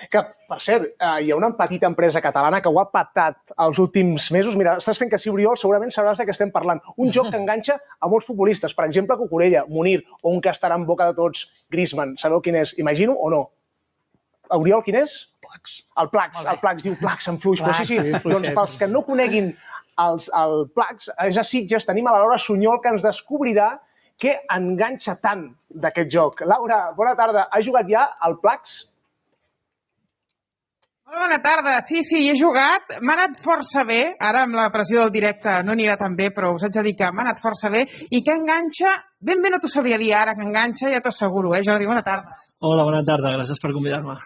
Que, per cert, hi ha una petita empresa catalana que ho ha patat els últims mesos. Mira, estàs fent que sí, Oriol, segurament sabràs de què estem parlant. Un joc que enganxa a molts futbolistes. Per exemple, Cucurella, Munir, o un que estarà en boca de tots, Griezmann. Sabeu quin és? Imagino o no? Oriol, quin és? Plax. El Plax, diu Plax en fluix. Però sí, doncs pels que no coneguin el Plax, és a Sitges, tenim a la Laura Sunyol, que ens descobrirà què enganxa tant d'aquest joc. Laura, bona tarda. Has jugat ja al Plax? Bona tarda. Sí, he jugat. M'ha anat força bé. Ara amb la pressió del directe no anirà tan bé, però us haig de dir que m'ha anat força bé. I què enganxa? Ben bé no t'ho sabria dir ara, que enganxa, ja t'ho asseguro. Jordi, bona tarda. Hola, bona tarda. Gràcies per convidar-me.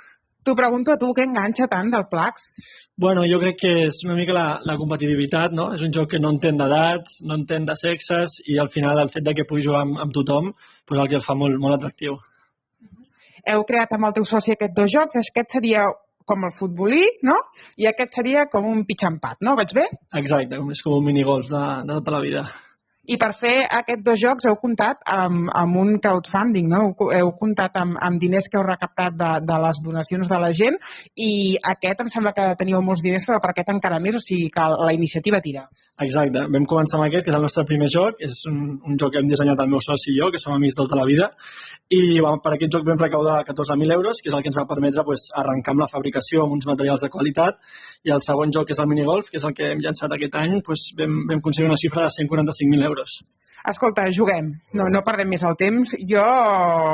T'ho pregunto a tu, què enganxa tant del Plax? Bueno, jo crec que és una mica la competitivitat, no? És un joc que no entén d'edats, no entén de sexes i al final el fet de que pugui jugar amb tothom és el que el fa molt, molt atractiu. Heu creat amb el teu soci aquests dos jocs. Aquest seria com el futbolí, no? I aquest seria com un pitxampat, no? Vaig bé? Exacte, és com un minigolf de tota la vida. I per fer aquests dos jocs heu comptat amb un crowdfunding, no? Heu comptat amb diners que heu recaptat de les donacions de la gent i aquest em sembla que teníeu molts diners, però per aquest encara més, o sigui que la iniciativa tira. Exacte, vam començar amb aquest, que és el nostre primer joc, és un joc que hem dissenyat el meu soci i jo, que som amics tota la vida, i per aquest joc vam recaudar 14.000 euros, que és el que ens va permetre arrencar amb la fabricació amb uns materials de qualitat, i el segon joc, que és el minigolf, que és el que hem llançat aquest any, vam aconseguir una xifra de 145.000 euros. Escolta, juguem, no perdem més el temps. Jo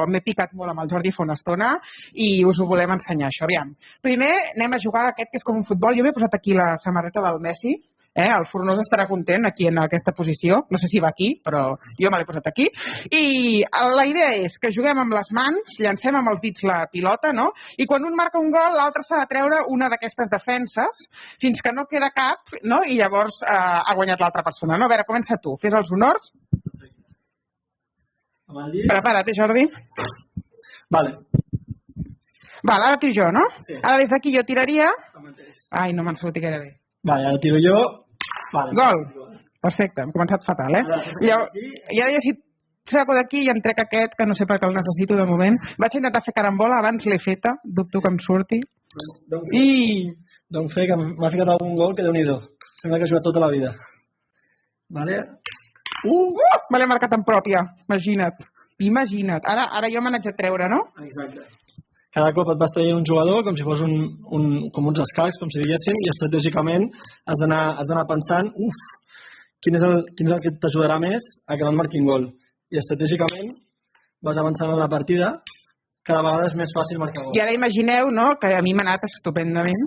m'he picat molt amb el Jordi fa una estona i us ho volem ensenyar, això. Aviam. Primer anem a jugar aquest que és com un futbol. Jo m'he posat aquí la samarreta del Messi. El Fornós estarà content aquí en aquesta posició. No sé si va aquí, però jo me l'he posat aquí. I la idea és que juguem amb les mans, llancem amb els dits la pilota, no? I quan un marca un gol, l'altre s'ha de treure una d'aquestes defenses fins que no queda cap, no? I llavors ha guanyat l'altra persona, no? A veure, comença tu. Fes els honors. Prepara't, Jordi. Vale. Vale, ara tiro jo, no? Sí. Ara des d'aquí jo tiraria... Ai, no me'n sortit gaire bé. Vale, ara tiro jo. Vale. Gol. Perfecte, hem començat fatal, I ara ja si saco d'aquí i em trec aquest, que no sé per què el necessito de moment. Vaig intentar fer carambola, abans l'he feta, dubto que em surti. Doncs que m'ha ficat algun gol que Déu-n'hi-do. Sembla que ha jugat tota la vida. Vale. Me l'he marcat en pròpia, imagina't. Ara jo me n'haig de treure, no? Exacte. Cada cop et vas traient un jugador com si fos com uns escacs, com si diguéssim, i estratègicament has d'anar pensant quin és el que t'ajudarà més a que no et marquin gol. I estratègicament vas avançant en la partida, cada vegada és més fàcil marcar gol. I ara imagineu, no?, que a mi m'ha anat estupendament.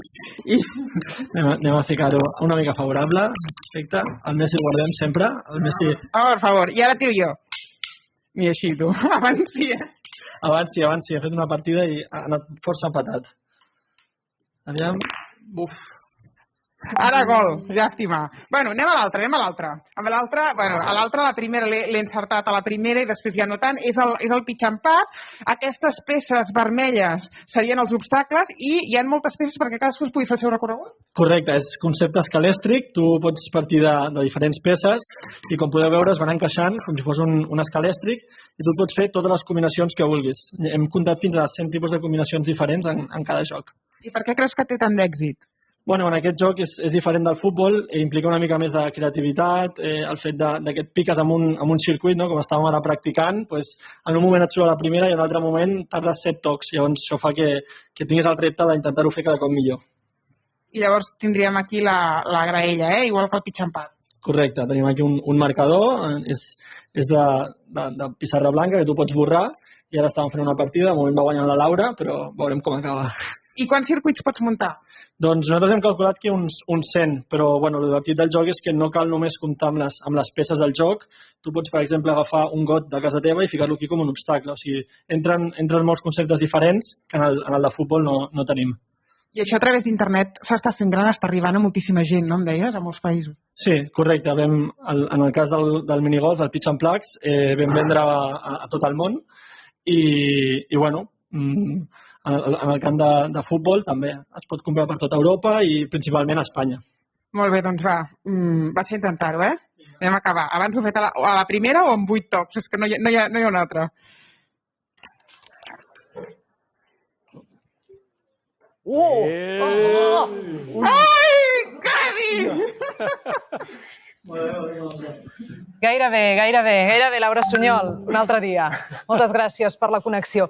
Anem a ficar-ho una mica favorable. Perfecte. El Messi el guardem sempre. El Messi... Per favor. I ara tiro jo. I així, tu. Abans sí, ha fet una partida i ha anat força empatat. Aviam. Ara gol, llàstima. Bueno, anem a l'altra. A l'altra, la primera l'he encertat a la primera i després ja no tant. És el pitxampat. Aquestes peces vermelles serien els obstacles i hi ha moltes peces perquè cadascú es pugui fer el seu recorregut? Correcte, és concepte escalèstric. Tu pots partir de diferents peces i com podeu veure es van encaixant com si fos un escalèstric i tu pots fer totes les combinacions que vulguis. Hem comptat fins a 100 tipus de combinacions diferents en cada joc. I per què creus que té tant d'èxit? Bueno, en aquest joc és diferent del futbol, implica una mica més de creativitat, el fet que et piques amb un circuit, no? Com estàvem ara practicant, en un moment et surt a la primera i en un altre moment tardes 7 tocs, llavors això fa que tinguis el repte d'intentar-ho fer cada cop millor. I llavors tindríem aquí la graella, igual que el pitxampat. Correcte, tenim aquí un marcador, és de pissarra blanca que tu pots borrar i ara estàvem fent una partida, de moment va guanyant la Laura, però veurem com acaba. I quants circuits pots muntar? Doncs nosaltres hem calculat que uns 100, però el divertit del joc és que no cal només comptar amb les peces del joc. Tu pots, per exemple, agafar un got de casa teva i ficar-lo aquí com un obstacle. O sigui, entren molts conceptes diferents que en el de futbol no tenim. I això a través d'internet s'està fent gran, està arribant a moltíssima gent, no em deies, a molts països? Sí, correcte. En el cas del minigolf, del pitch and plugs, vam vendre a tot el món i bueno, en el camp de futbol també es pot comprar per tota Europa i principalment a Espanya. Molt bé, doncs va, vaig a intentar-ho, Anem a acabar. Abans ho he fet a la primera o amb 8 tocs? És que no hi ha una altra. Ai, quasi! Gairebé, Laura Sunyol, un altre dia. Moltes gràcies per la connexió.